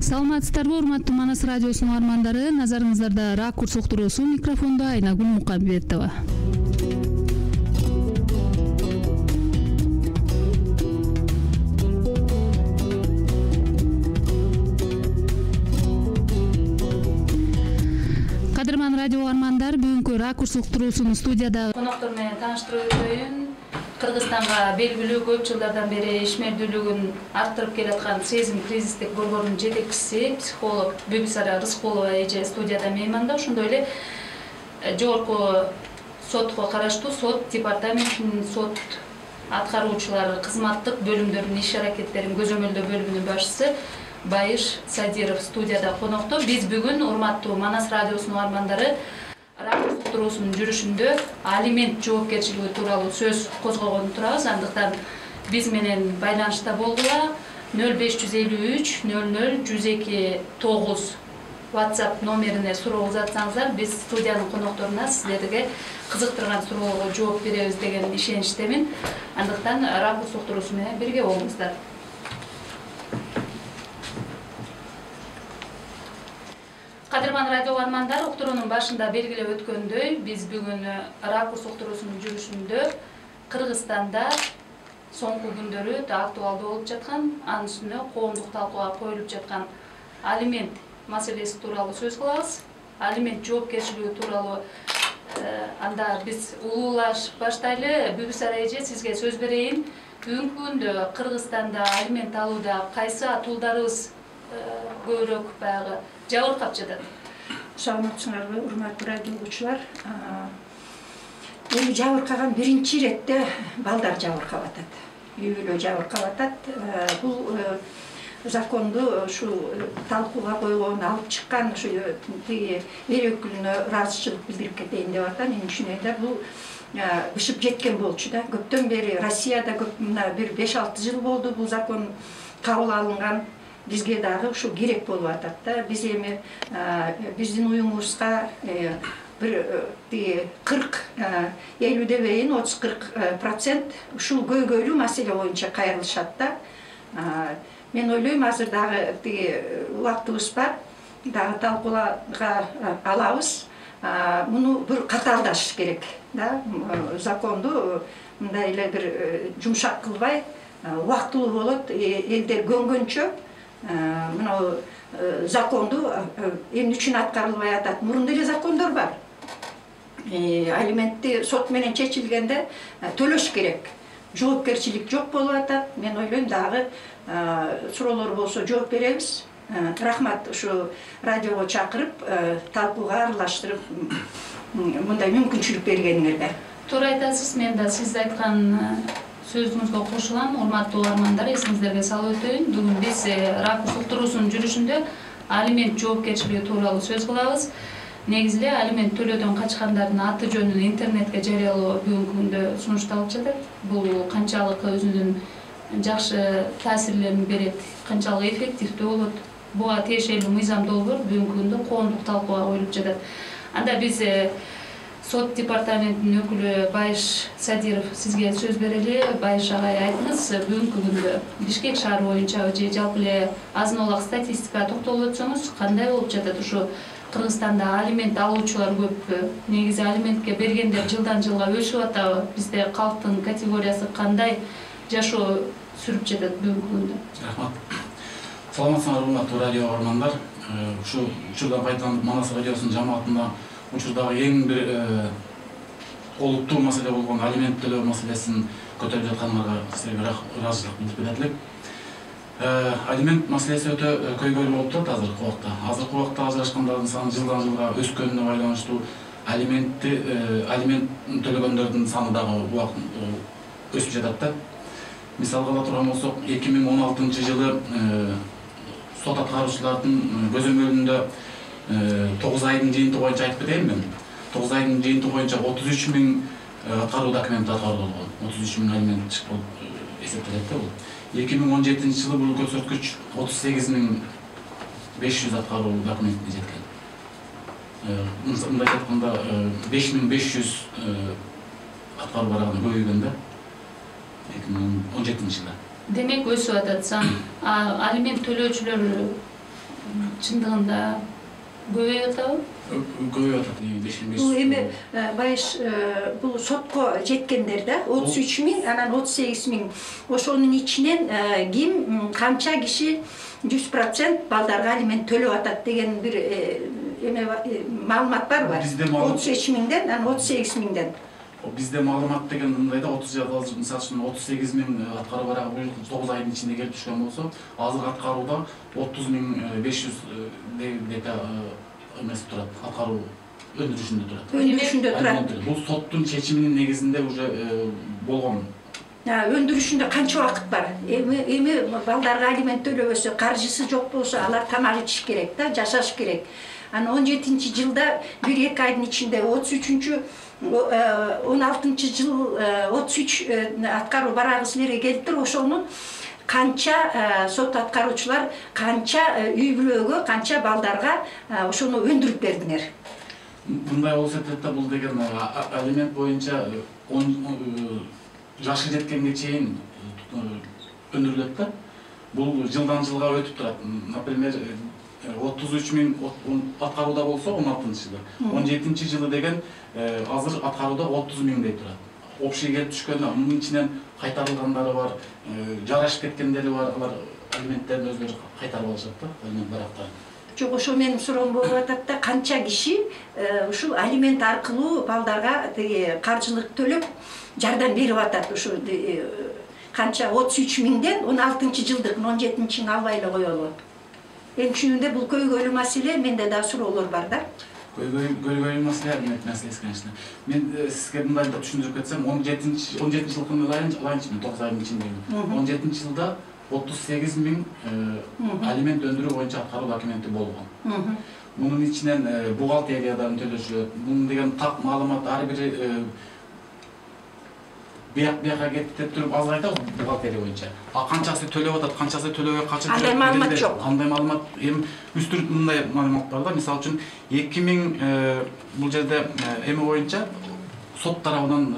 Саламатсыздарбы, урматтуу Манас радиосунун угармандары? Назарыңыздарда Ракурс уктуруусу, микрофондо Айнагүл Мукамбетова. Кадырман радио угармандар, бүгүнкү Ракурс уктуруусунун студияда коноктор менен тааныштырып өтөйүн. Кыргызстанга белгилүү көп жылдардан бери ишмердүүлүгүн арттырып келаткан сезим кризистик борборунун жетекчиси, психолог Бүбүсара Рыскулова эже студияда мейманда. Ошондой эле жогорку сотко караштуу сот департаментинин сот аткаруучулары кызматтык бөлүмдөрүнүн иш аракеттерин көзөмөлдөө бөлүмүнүн башчысы Байыш Садиров студияда конокто. Биз бүгүн урматтуу Манас радиосунун угармандары Ракурс уктуруусунун жүрүшүндө алимент жоопкерчилиги тууралуу сөз козгогон турабыз. Андыктан биз менен байланышта болгула 0553 00 102 9 WhatsApp номерине суроо узатсаңыздар, биз студиянын конокторуна сиздерге кызыктырган суроолорго жооп беребиз деген ишеничтемин. Андыктан Ракурс уктуруусу менен бирге болуңуздар. Кадырман радио угармандар, уктуруунун башында белгилеп өткөндөй, биз бүгүн Ракурс уктуруусунун жүрүшүндө Кыргызстанда соңку күндөрү актуалдуу болуп жаткан, анын үстүнө коомдук талкууга коюлуп жаткан алимент маселеси тууралуу сөз кылабыз. Алимент жоопкерчилиги тууралуу анда биз улуулаш баштайлы. Бүбүсара эже, сизге сөз берейин. Бүгүнкү күндө Кыргызстанда алимент алууда кайсы атуулдарыбыз көбүрөөк баягы жабыркап жатат? Саламатсыңарбы, урматтуу радио угуучулар? Эми жабыркаган биринчи иретте балдар жабыркап атат. Үй бүлө жабыркап атат. Бул законду ушу талкууга койгон, алып чыккан ушу эл өкүлүнө ыраазычылык билдирип кетейин деп атам. Менин түшүнүгүмдө бул бышып жеткен болчу да. Көптөн бери Россияда мына бир 5-6 жыл болду бул закон кабыл алынган. Бизге дагы ушу керек болуп атат да. Биз эми биздин уюмубузга бир 40 50 дебейин 30-40% ушул көйгөйлүү маселе боюнча кайрылышат да. Мен ойлойм, азыр дагы убактыбыз бар, дагы талкуулага алабыз. Муну бир катаалдаш керек да. Законду мындай эле бир жумшак кылбай, убактылуу болот, элдер көнгөнчө мына законду эмне үчүн аткарылбай атат? Мурунда эле закондор бар. Алиментти сот менен чечилгенде төлөш керек. Жоопкерчилик жок болуп атат. Мен ойлойм, дагы суроолор болсо жооп беребиз. Рахмат, ушу радиого чакырып, талкууга аралаштырып, мындай мүмкүнчүлүк бергениңерге. Туура айтасыз. Мен да сиз айткан сөзүңүзгө кошулам. Урматтуу угармандар, эсиңиздерге салып өтөйүн. Бүгүн биз Ракурс уктуруусунун жүрүшүндө алимент жоопкерчилиги тууралуу сөз кылабыз. Негизи эле алимент төлөөдөн качкандардын аты жөнүн интернетке жарыялоо бүгүнкү күндө сунушталып жатат. Бул канчалык өзүнүн жакшы таасирлерин берет, канчалык эффективдүү болот, буга тиешелүү мыйзам долбоор бүгүнкү күндө коомдук талкууга коюлуп жатат. Анда биз сот департаментинин өкүлү Байыш Садиров сизге сөз берели. Байыш агай, айтыңыз, бүгүнкү күндө Бишкек шаары боюнча же жалпы эле азын олак статистикага токтолуп өтсөңүз, кандай болуп жатат? Ушу Кыргызстанда алимент алуучулар көппү? Негизи алиментке бергендер жылдан жылга өсүп атабы? Бизде калктын категориясы кандай жашоо сүрүп жатат бүгүнкү күндө? Рахмат. Саламатсыңар, урматтуу радио угармандар. Ушу учурдан пайдаланып Манас радиосунун жамаатында учурдагы эң бир олуттуу маселе болгон алимент төлөө маселесин көтөрүп жаткандарга силерге ыраазычылык билдирип кетет элек. Алимент маселеси өтө көйгөйлүү болуп турат азыркы убакта. Азыркы убакта ажырашкандардын саны жылдан жылга өскөнүнө байланыштуу алимент төлөгөндөрдүн саны дагы өсүп жатат да. Мисалга ала турган болсок, 2016 жылы сот аткаруучулардын көзөмөлүндө 9 айдын жыйынтыгы боюнча айтып кетейин мен. 9 айдын жыйынтыгы боюнча 33 000 аткаруу документи аткарылган. 33 000 алимент болуп эсептелет да бул. 2017 жылы бул көрсөткүч 38 500 аткаруу документине жеткен. Мындай айтканда 5500 аткаруу барагына көбөйгөн да 2017 жылы. Демек өсүп атат сан. Алимент төлөөчүлөр чындыгында көбөйүп атабы? Көбөйүп атат. 5-5. Бул эми байыш бул сотко жеткендер да 33 миң, анан 38 миң. Ошонун ичинен ким канча киши 100% балдарга алимент төлөп атат деген бир маалымат бар. 33 миңден, анан 38 миңден. Бизде маалымат деген мындай да 38 миң аткаруу барагы бул 9 айдын ичинде келип түшкөн болсо, азыр аткарууда 30.500 дека эмес турат, аткаруу өндүрүшүндө турат. Өндүрүшүндө турат. Бул соттун чечиминин негизинде уже болгон. Өндүрүшүндө канча убакыт бар? Эми балдарга алимент төлөбөсө, каржысы жок болсо, алар тамак ичиш керек да, жашаш керек. Анан 17-жылда 1-2 айдын ичинде 16-жыл 33 аткаруу барагы силерге келиптир. Ошону канча сот аткаруучулар, канча үй бүлөгө, канча балдарга ошону өндүрүп бердиңер? Мындай болсо да бул деген алимент боюнча жашы жеткенге чейин өндүрүлөт да. Бул жылдан жылга өтүп турат. Например, 33 миң аткарууда болсо 16-жылы, 17-жылы деген азыр аткарууда 30 миңдей турат. Общий келип түшкөндө мунун ичинен кайтарылгандары бар, жарашып кеткендери бар, алар алименттерин өздөрү кайтарып алышат да, алимент барактарын. Жок, ошо менин суроом болуп атат да, канча киши ушул алимент аркылуу балдарга каржылык төлөп жардам берип атат? Ушу канча 33 миңден 16-жылдык 17-жылын албай эле коелу. Эми чынында бул көйгөйлүү маселе, менде да суроолор бар да. Көйгөйлүү маселе, алимент маселеси, конечно. Мен сизге мындай да түшүндүрүп кетсем, 17-жылдын алайынчы, 9 айдын ичиндеги. 17-жылда 38 миң алимент өндүрүү боюнча аткаруу документи болгон. Мунун ичинен бухгалтериядан төлөшүлөт. Мунун деген так маалымат ар бири бияка кетип деп туруп азыр айтабыз бухгалтерия боюнча. Канчасы төлөп атат, канчасы төлөбөй качып жүрөт. Андай маалымат жок. Андай маалымат, эми үстүрүп мындай маалымат бар да. Мисалы үчүн 2000 бул жерде эми боюнча сот тарабынан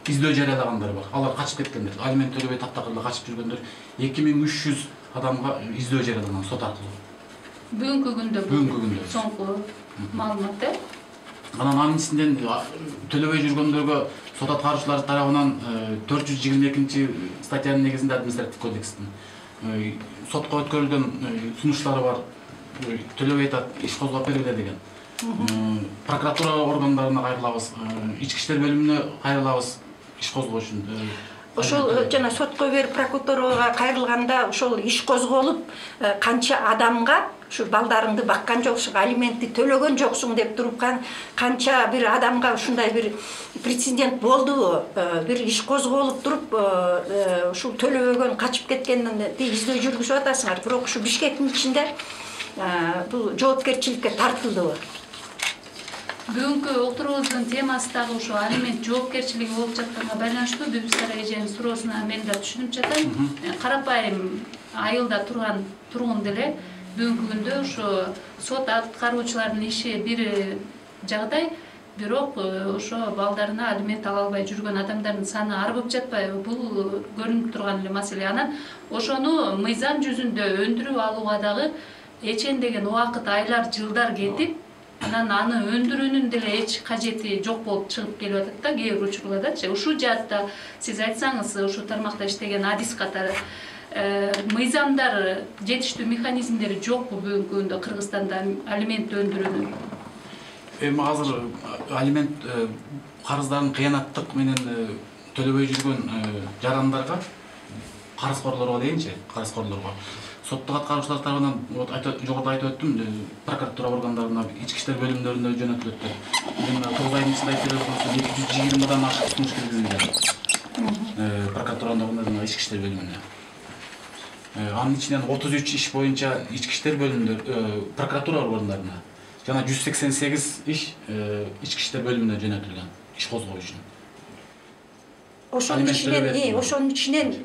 издөө жарыялагандар бар. Алар качып кеткендер, алимент төлөбөй таптакырда качып жүргөндөр 2300 адамга издөө жарыялаган сот аркылуу. Бүгүнкү күндө соңку маалымат да. Анан ичинден төлөбөй жүргөндөргө сот аткаруучулар тарабынан 422 статьянын негизинде административдик кодекстин сотко өткөрүлгөн сунуштары бар. Төлөбөй атат, иш козгоп бергиле деген. Прокуратура органдарына кайрылабыз, ички иштер бөлүмүнө кайрылабыз иш козгоо үчүн. Ошол жана сотко берип прокуратурага кайрылганда ошол иш козголуп, канча адамга ушу балдарыңды баккан жоксуң, алиментти төлөгөн жоксуң деп туруп канча бир адамга ушундай бир прецедент болдубу? Бир иш козголуп туруп, ушул төлөбөгөн качып кеткенди издөө жүргүзүп атасыңар, бирок ушу Бишкектин ичинде бул жоопкерчиликке тартылдыбы? Бүгүнкү отурубуздун темасы дагы ушу алимент жоопкерчилиги болуп жатканга байланыштуу. Бүбүсара эженин суроосуна мен да түшүнүп жатам. Карапайым айылда тургун деле бүгүнкү күндө ушу сот аткаруучулардын иши бир жагдай, бирок ошо балдарына алимент ала албай жүргөн адамдардын саны арбып жатпайбы? Бул көрүнүп турган эле маселе. Анан ошону мыйзам жүзүндө өндүрүп алууга дагы эчендеген убакыт, айлар, жылдар кетип, анан аны өндүрүүнүн деле эч кажети жок болуп чыгып келип атат да кээ бир учурлардачы. Ушул жаатта сиз айтсаңыз, ушу тармакта иштеген адис катары мыйзамдар, жетиштүү механизмдери жокпу бүгүнкү күндө Кыргызстанда алимент өндүрүүнүн? Эми азыр алимент карыздарын кыянаттык менен төлөбөй жүргөн жарандарга, карызкорлорго дейинчи, карызкорлорго соттук аткаруучулар тарабынан жогоруда айтып өттүм, прокуратура органдарына, ички иштер бөлүмдөрүнө жөнөтүлөт деп. Мен 9 айдын ичинде айтып өттүм, 220 ашык сунуш киргизилген прокуратура органдарына, ички иштер бөлүмүнө. Анын ичинен 33 иш боюнча ички иштер бөлүмдөрүнө, прокуратура органдарына жана 188 иш ички иштер бөлүмүнө жөнөтүлгөн иш козгоо үчүн. Ошонун ичинен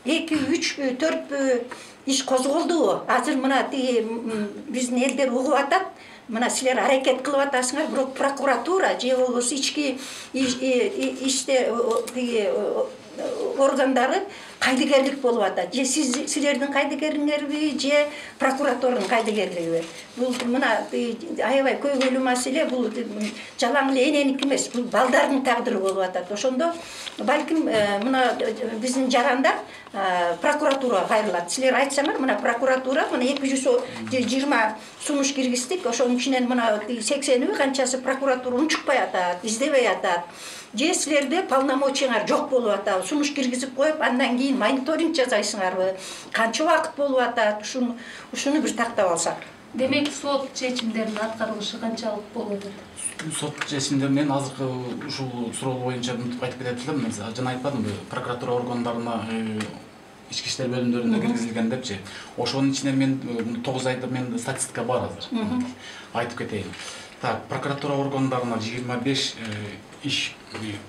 2, 3, 4 иш козголдубу? Азыр мына биздин элдер угуп атат, мына силер аракет кылып атасыңар, бирок прокуратура же болбосо ички иштер органдары кайдыгерлик болуп атат. Же силердин кайдыгериңерби, же прокуратуранын кайдыгерлиги. Бул мына аябай көйгөйлүү маселе, бул жалаң эле эненики эмес, бул балдардын тагдыры болуп атат. Ошондо балким мына биздин жарандар прокуратурага кайрылат. Силер айтсаңар, мына прокуратура мына 220 сунуш киргиздик, ошонун ичинен мына 80 канчасы прокуратура унчукпай атат, издебей атат. Же силерде полномочияңар жок болуп атат, сунуш киргизип коюп, андан кийин мониторинг жасайсыңарбы? Канча убакыт болуп атат? Ушуну бир тактап алсак. Демек, сот чечимдеринин аткарылышы канчалык болуп атат? Сот чечимдеринен азыркы ушул суроо боюнча мынтип айтып кетет элем. Жана айтпадымбы, прокуратура органдарына ички иштер бөлүмдөрүнө киргизилген депчи. Ошонун ичинен мен 9 айда мен статистика бар азыр. Айтып кетейин. Так, прокуратура органдарына 25 иш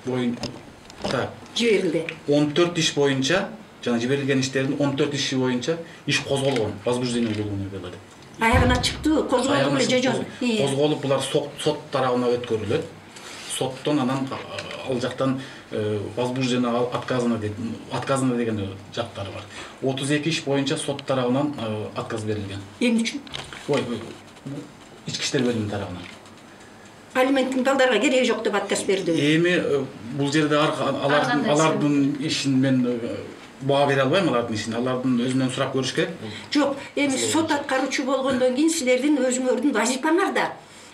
боюнча жиберилди. 14 иш боюнча, жана жиберилген иштердин 14 иши боюнча иш козголгон, возбуждение болгон деп. Аягына чыктыбы, козголду эле же жок? Козголуп, булар сот тарабына өткөрүлөт. Соттон анан ал жактан возбуждение отказано деген жактары бар. 32 иш боюнча сот тарабынан отказ берилген. Эмне үчүн? Ички иштер бөлүмү тарабынан. Алименттин балдарга кереги жок деп отказ берди. Эми бул жерде алардын ишин мен баа бере албайм, алардын ишин. Алардын өзүнөн сурап көрүш керек. Жок, эми сот аткаруучу болгондон кийин силердин өзүңөрдүн вазифаңар да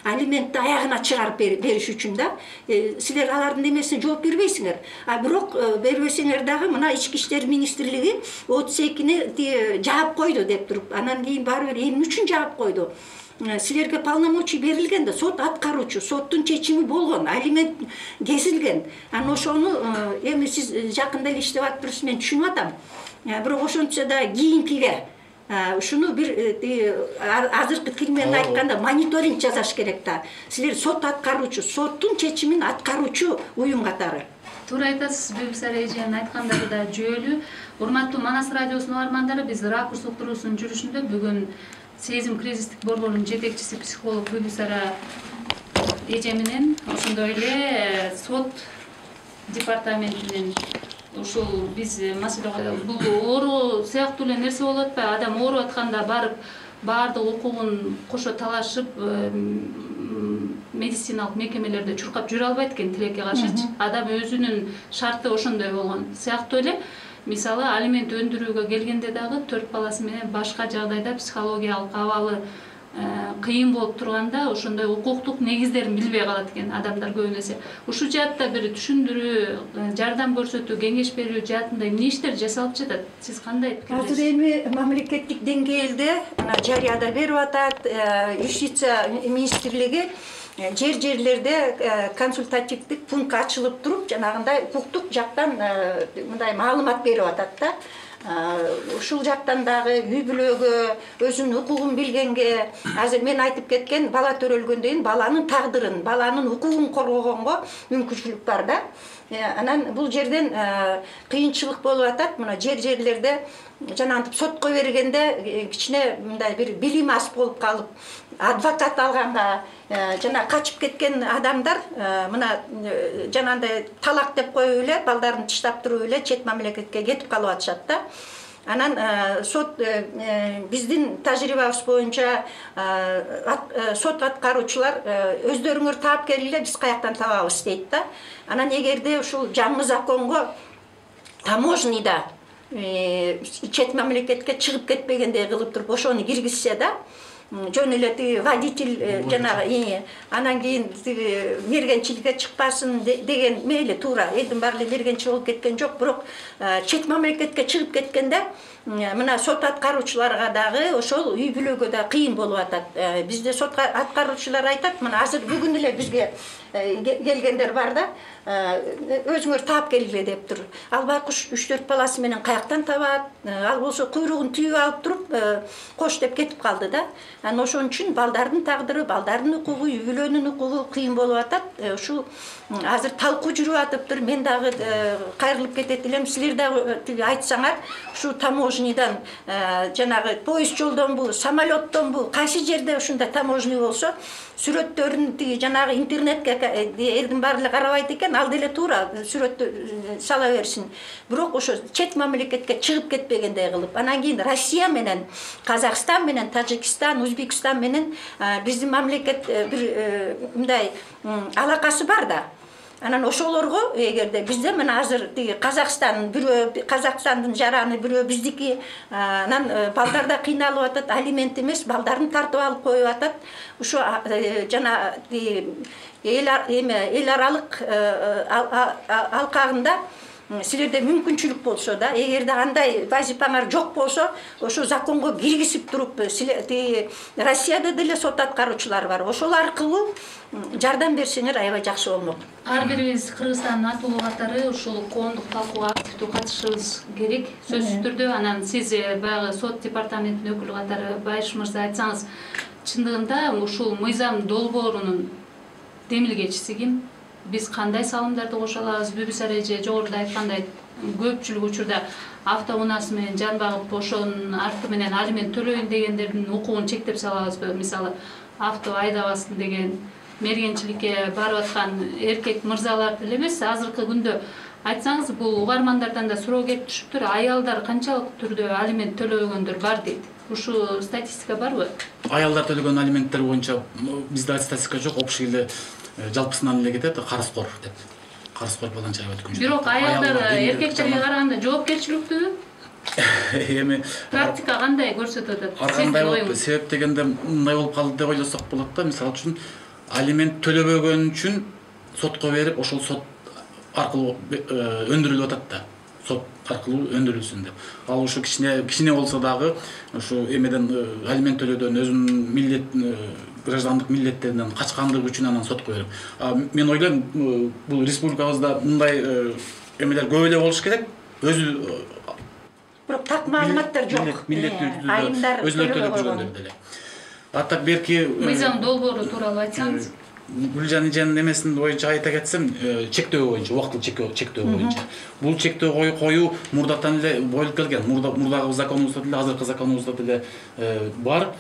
алиментти аягына чыгарып бериш үчүн да. Силер алардын эмесине жооп бербейсиңер. Бирок бербесеңер дагы мына Ички иштер министрлиги 32-ни жаап койду деп туруп, анан кийин баары бир эмне үчүн жаап койду? Силерге полномочий берилген да, сот аткаруучу, соттун чечими болгон, алимент кесилген. Анан ошону эми сиз жакында эле иштеп атыптырсыз, мен түшүнүп атам. Бирок ошончо да кийинкиге ушуну бир азыркы тил менен айтканда мониторинг жасаш керек да. Силер сот аткаруучу, соттун чечимин аткаруучу уюм катары. Туура айтасыз, Бибисара эженин айткандары да жүйөлүү. Урматтуу Манас радиосунун угармандары, биз ракурс уктуруусунун жүрүшүндө бүгүн сезим кризистик борборунун жетекчиси психолог Бибисара эже менен ошондой эле сот департаментинин ушул биз маселе бул оору сыяктуу эле нерсе болуп атпайбы? Адам ооруп атканда барып баардык укугун кошо талашып медициналык мекемелерде чуркап жүрө албайт экен тилекке каршычы. Адам өзүнүн шарты ошондой болгон сыяктуу эле. Мисалы, алимент өндүрүүгө келгенде дагы 4 баласы менен башка жагдайда психологиялык абалы кыйын болуп турганда ошондой укуктук негиздерин билбей калат экен адамдар көбүн эсе. Ушул жаатта бир түшүндүрүү, жардам көрсөтүү, кеңеш берүү жаатында эмне иштер жасалып жатат? Сиз кандай пикирдесиз? Азыр эми мамлекеттик деңгээлде жарыяда берип атат, Юстиция министрлиги жерлерде консультативдик пункт ачылып туруп, жанагындай укуктук жактан мындай маалымат берип атат да. Ушул жактан дагы үй бүлөгө, өзүнүн укугун билгенге, азыр мен айтып кеткен бала төрөлгөндөн кийин баланын тагдырын, баланын укугун коргогонго мүмкүнчүлүк бар да. Анан бул жерден кыйынчылык болуп атат. Мына жерлерде жанагынтип сотко бергенде кичине мындай бир билим аз болуп калып, адвокат алганга жана качып кеткен адамдар мына жанагындай талак деп коюп эле, балдарын таштап туруп эле чет мамлекетке кетип калып атышат да. Анан сот биздин тажрыйбабыз боюнча сот аткаруучулар өздөрүңөр таап келгиле, биз каяктан табабыз дейт да. Анан эгерде ушул жаңы законго таможняда чет мамлекетке чыгып кетпегендей кылып туруп ошону киргизсе да, жөн эле тиги водитель жанагы анан кийин тиги мергенчиликке чыкпасын деген мейли туура, элдин баары эле мергенчил болуп кеткен жок, бирок чет мамлекетке чыгып кеткенде мына сот аткаруучуларга дагы ошол үй бүлөгө да кыйын болуп атат. Бизде сот аткаруучулар айтат, мына азыр бүгүн эле бизге келгендер бар да, өзүңөр таап келгиле деп тур. Ал байкуш 3-4 баласы менен каяктан табат? Ал болсо куйругун түйүп алып туруп, кош деп кетип калды да. Анан ошон үчүн балдардын тагдыры, балдардын укугу, үй бүлөнүн укугу кыйын болуп атат. Ушул азыр талкуу жүрүп атыптыр. Мен дагы кайрылып кетет элем. Силер дагы тиги айтсаңар, ушу таможнядан жанагы поезд жолдонбу, самолеттонбу, кайсы жерде ушундай таможня болсо, сүрөттөрүн тиги жанагы интернетке элдин баары эле карабайт экен, ал деле туура сүрөттү сала берсин. Бирок ошо чет мамлекетке чыгып кетпегендей кылып, анан кийин Россия менен Казакстан менен Тажикстан, Өзбекстан менен биздин мамлекет бир мындай алакасы бар да. Анан ошолорго эгерде бизде мына азыр Казакстан бирөө Казакстандын жараны бирөө биздики, анан балдар да кыйналып атат, алимент эмес, балдарын тартып алып коюп атат. Ошо жана эл аралык алкагында силерде мүмкүнчүлүк болсо да, эгерде андай вазипаңар жок болсо, ошо законго киргизип туруп, Россияда деле сот аткаруучулар бар. Ошол аркылуу жардам берсеңер аябай жакшы болмок. Ар бирибиз Кыргызстандын атуулуу катары ушул коомдук талкууга активдүү катышышыбыз керек, сөзсүз түрдө. Анан сиз баягы сот департаментинин өкүлү катары Байыш мырза айтсаңыз, чындыгында ушул мыйзам долбоорунун демилгечиси ким? Биз кандай салымдарды кошо алабыз? Бүбүсар эже жогоруда айткандай, көпчүлүк учурда автоунаасы менен жан багып, ошонун арты менен алимент төлөйүн дегендердин укугун чектеп салабызбы? Мисалы, авто айдабасын деген мергенчиликке барып аткан эркек мырзалар деле эмес, азыркы күндө айтсаңыз, бул угармандардан да суроо келип түшүптүр. Аялдар канчалык түрдө алимент төлөбөгөндөр бар дейт. Ушу статистика барбы? Аялдар төлөгөн алименттер боюнча бизде статистика жок, общий эле жалпысынан эле кетет, карызкор деп. Карызкор баланча аябай күнчө. Бирок аялдар эркектерге караганда жоопкерчиликтүү. Эми практика кандай көрсөтүп атат? Ар кандай болуп, себеп дегенде мындай болуп калды деп ойлосок болот да. Мисалы үчүн алимент төлөбөгөн үчүн сотко берип, ошол сот аркылуу өндүрүлүп атат да. Сот аркылуу өндүрүлсүн деп. Ал ушу кичине болсо дагы ушу эмеден алимент төлөөдөн өзүнүн милдет граждандык милдеттеринен качкандыгы үчүн анан сотко берип. Мен ойлойм, бул республикабызда мындай эмелер көп эле болуш керек. Өзү бирок так маалыматтар жок. Айымдар өзүлөрү төлөп жүргөндөр деле. Аттак берки мыйзам долбоору тууралуу айтсаңыз. Гүлжан эженин эмесин боюнча айта кетсем, чектөө боюнча, убактылуу чектөө боюнча. Бул чектөө коюу мурдатан эле болуп келген. Мурдагы законубузда деле, азыркы законубузда деле бар.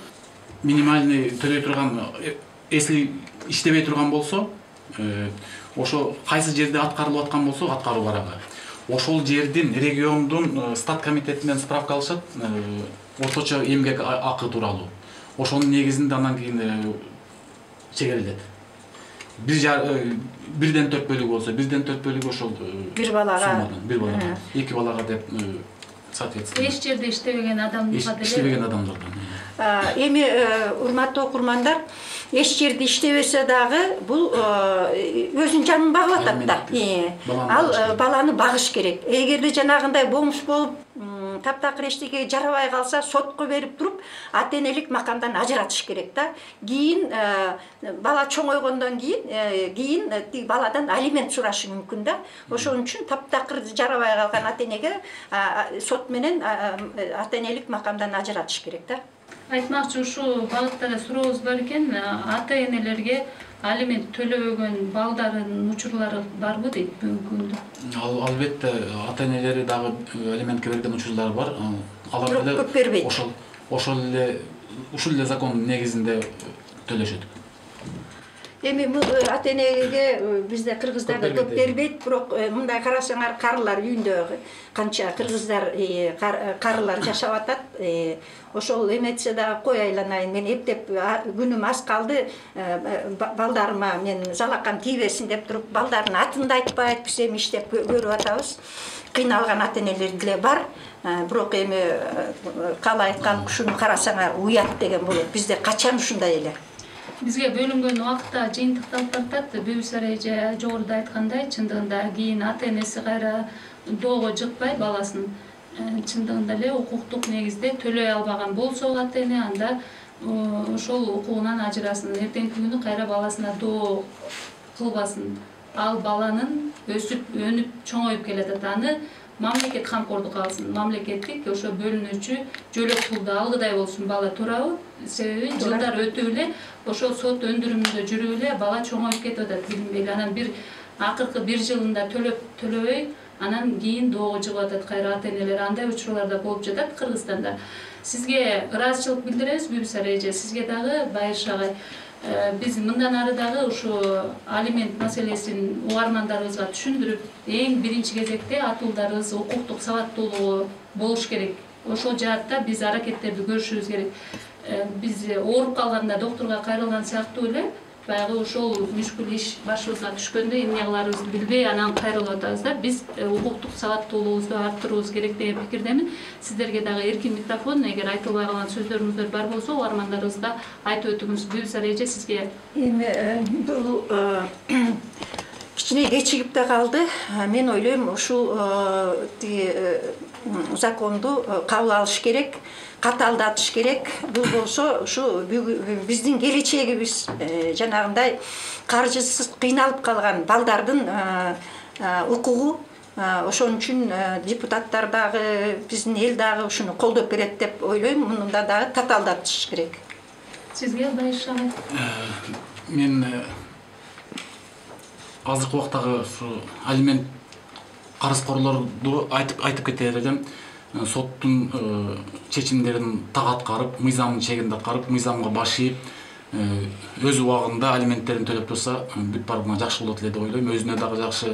Минимальный төлөй турган, если иштебей турган болсо, ошо кайсы жерде аткарылып аткан болсо, аткаруу барага. Ошол жердин региондун стат комитетинен справка алышат, орточо эмгек акы тууралуу. Ошонун негизинде андан кийин чегерилет. 1/4 бөлүгү болсо, 1/4 бөлүгү ошол бир балага, эки балага деп соответственно. Эч жерде иштебеген адамдарга деле. Иштебеген адамдардан. Эми урматтуу окурмандар, эч жерде иштебесе дагы бул өзүнүн жанын багып атат да. Ал баланы багыш керек. Эгерде жанагындай бомж болуп, таптакыр эчтеке жарабай калса, сотко берип туруп, ата-энелик макамдан ажыратыш керек да. Кийин бала чоңойгондон кийин баладан алимент сурашы мүмкүн да. Ошон үчүн таптакыр жарабай калган ата-энеге сот менен ата-энелик макамдан ажыратыш керек да. Айтмакчы, ушу багытта сурообуз бар экен, ата-энелерге алимент төлөбөгөн балдардын учурлары барбы дейт бүгүнкү күндө? Албетте, ата-энелери дагы алиментке берген учурлар бар. Алар деле көп бербейт. Ушул эле закондун негизинде төлөшөт. Эми ата-энеге бизде кыргыздарда көп бербейт, бирок мындай карасаңар, карылар үйүндө канча кыргыздар карылар жашап атат. Ошол эметсе да кой айланайын, мен эптеп күнүм аз калды, балдарыма мен жалакам тийбесин деп туруп, балдардын атын да айтпай айтпыз, эми иштеп көрүп атабыз. Кыйналган ата-энелер деле бар, бирок эми калай айткан ушуну карасаңар уят деген болот. Бизде качан ушундай эле. Бизге бөлүнгөн убакта жыйынтыкталып баратат. Бүбүсар эже жогоруда айткандай, чындыгында кийин ата-энеси кайра доого жыкпай баласын чындыгында эле укуктук негизде төлөй албаган болсо ата-эне, анда ошол укугунан ажырасын. Эртеңки күнү кайра баласына доо кылбасын. Ал баланын өсүп, өнүп, чоңоюп келатат. Аны мамлекет камкордукка алсын. Мамлекеттик ошо бөлүнүүчү жөлөк пулду алгыдай болсун бала, туурабы? Себеби жылдар өтүп эле ошол сот өндүрүмүндө жүрүп эле бала чоңоюп кетип атат, билинбей эле. Анан акыркы 1 жылында төлөбөй, анан кийин доого жыгып атат кайра ата-энелер. Андай учурлар да болуп жатат Кыргызстанда. Сизге ыраазычылык билдиребиз, Бүбүсар эже. Сизге дагы Байыш агай. Биз мындан ары дагы ушу алимент маселесин угармандарыбызга түшүндүрүп, эң биринчи кезекте атуулдарыбыз укуктук сабаттуулугу болуш керек. Ошол жаатта биз аракеттерди көрүшүбүз керек. Биз ооруп калганда доктурга кайрылган сыяктуу эле баягы ошол мүшкүл иш башыбызга түшкөндө эмне кыларыбызды билбей анан кайрылып атабыз да. Биз укуктук сабаттуулугубузду арттырууубуз керек деген пикирдемин. Сиздерге дагы эркин микрофон, эгер айтылбай калган сөздөрүңүздөр бар болсо, угармандарыбызга айтып өтүңүз. Гүлсара эже, сизге. Эми бул кичине кечигип да калды. Мен ойлойм, ушул законду кабыл алыш керек, катаалдатыш керек. Бул болсо ушу биздин келечегибиз, жанагындай каржысыз кыйналып калган балдардын укугу. Ошон үчүн депутаттар дагы, биздин эл дагы ушуну колдоп берет деп ойлойм. Мунда дагы катаалдатыш керек. Сизге Байыш агай? Мен азыркы убактагы ушу алимент карызкорлорду айтып кетер элем. Соттун чечимдерин так аткарып, мыйзамдын чегинде аткарып, мыйзамга баш ийип, өз убагында алименттерин төлөп турса, бүт баарына жакшы болот эле деп ойлойм. Өзүнө дагы жакшы,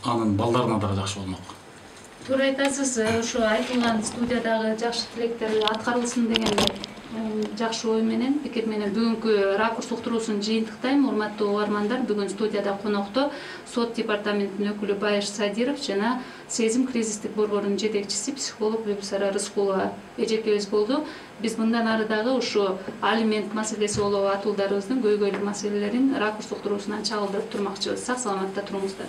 анын балдарына дагы жакшы болмок. Туура айтасыз. Ушу айтылган студиядагы жакшы тилектер аткарылсын деген жакшы ой менен, пикир менен бүгүнкү ракурс уктуруусун жыйынтыктайм. Урматтуу угармандар, бүгүн студияда конокто сот департаментинин өкүлү Байыш Садиров жана Сезим кризистик борборунун жетекчиси психолог Гүлсара Рыскулова эжекебиз болду. Биз мындан ары дагы ушу алимент маселеси болобу, атуулдарыбыздын көйгөйлүү маселелерин ракурс уктуруусунан чагылдырып турмакчыбыз. Сак саламатта туруңуздар.